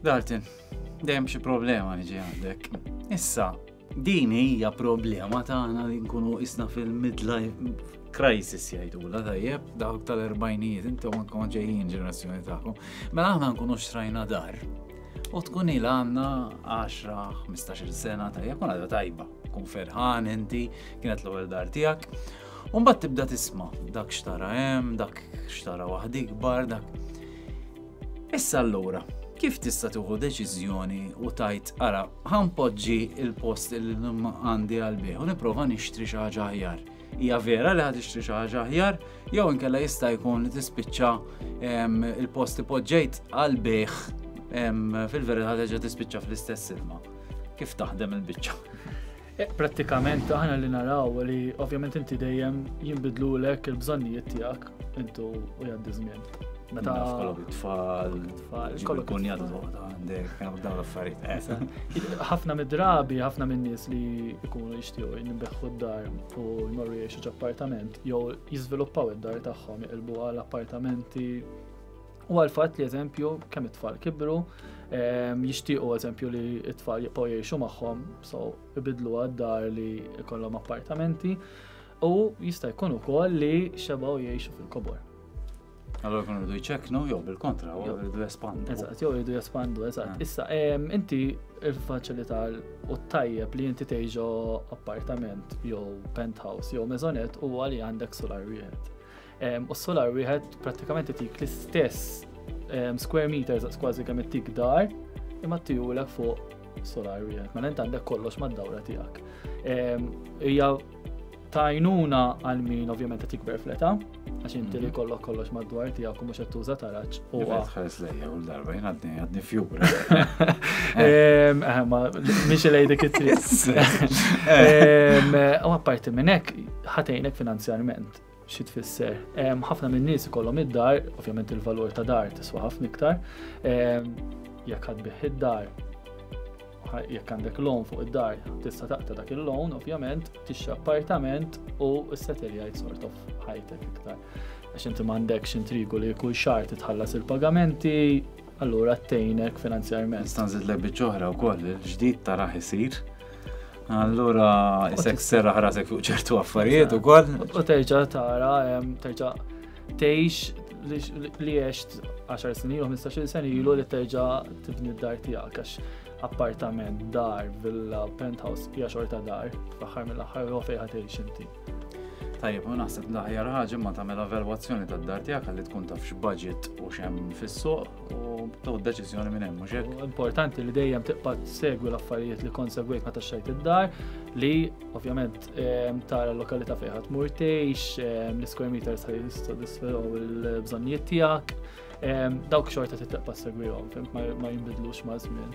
Dalton, dejjem xi problema niġi għandek. Issa, din hija problema tagħna li nkunu isna fil-midlife crisis jgħidula tajjeb, dawk tal-erbajnijiet, intom anke ġejjin ġenerazzjoni tagħkom. Mela aħna nkunu xtrajna dar. U tkun ilha għandna 10-15 sena tajjeb, kun għadha tajba, kun ferħan inti, kienet l-ewwel dar tiegħek. U mbagħad tibda tisma' dak xtara hemm, dak xtara waħdi ikbar, dak. Issa allura, kif tista' tieħu deċiżjoni u tajt ara ħanpoġġi il-post li għandi għal u nipprova nixtri xi ħaġa aħjar. Hija vera li ħad tixtri xi ħaġa aħjar, jew inkella jista' jkun li tispiċċa il-post li poġġejt għal bejħ fil-verità terġa' tispiċċa fl-istess ilma. Kif taħdem il-biċċa? Eh, prattikament aħna li naraw li ovvjament inti dejjem jinbidlulek il-bżonnijiet tiegħek intu u jgħaddi żmien. Meta kollok it-tfal, tfal, kollok kun jgħadu toqgħod għandek, dawn l-affarijiet. Eh. Ħafna mid-drabi, ħafna min-nies li jkunu jixtiequ jinbeħħu d-dar u jmorru jgħixu ġ'appartament jew jiżviluppaw id-dar tagħhom jqilbu għal appartamenti U għal fatt li eżempju kemm it-tfal kibru, ehm, jixtiequ eżempju li it-tfal jibqgħu jgħixu magħhom, so ibidlu għad-dar li jkollhom appartamenti u jista' jkun ukoll li xebgħu jgħixu fil-kobor. Allora jkunu jridu jċeknu jew bil-kontra, jew jridu jespandu. Eżatt, jew jridu jespandu, eżatt. Ah. Issa, ehm, inti il-faċilità u tajjeb li inti tgħixu appartament jew penthouse jew mezonet huwa li għandek solar wieħed. U s-solar wieħed prattikament itik l-istess square meters kważi kemm ittik dar, imma tijulek fuq solar wieħed. Mela int għandek kollox mad-dawra tiegħek. Hija tajnuna għal min ovvjament qed jikber fl-età, għax inti li mhm. kollok kollox madwar tiegħek u mhux qed tuża taraġ. U tħares lejja u l-darba jien għadni għadni fjura. Eh, ma mhix lej dik it-triq. U apparti minn hekk ħatejnek finanzjarment. Xi tfisser? Ħafna minn nies ikollhom id-dar, ovvjament il-valur ta' dar tiswa ħafna iktar. Jekk ħadd bih id-dar, jekk għandek loan fuq id-dar, tista' taqta' dak il-loan, ovvjament, tixtri appartament u s-seteljajt sort of ħajtek iktar. Għax inti m'għandekx intrigu li kull xahar titħallas il-pagamenti, allura tgħinek finanzjarment. Nista' nżidlek biċċa oħra wkoll, il-ġdid taraħ isir. Allura isek serraħ rasek fuq ċertu affarijiet ukoll. U terġa' tara, terġa' tgħix li għext 10 snin ilu, 15 sena ilu li terġa' tibni d-dar tiegħek għax appartament, dar, villa, penthouse, hija xorta dar, fl-aħħar mill-aħħar huwa fejn tgħix inti. Tajjeb, u naħseb l-aħjar ħaġa ma tagħmel evalwazzjoni tad-dar tiegħek ħalli tkun taf x'budget u x'hemm fis-suq u tieħu deċiżjoni minn hemm mhux hekk. Importanti li dejjem tibqa' segwi l-affarijiet li kont segwejt meta xtrajt id-dar li ovvjament ehm, tara l-lokalità fejn ħadd mur tgħix, ehm, l-square meters ħaj jissodisfaw il-bżonnijiet tiegħek. Ehm, dawk xorta tibqa' segwihom, ma jinbidlux ma' żmien.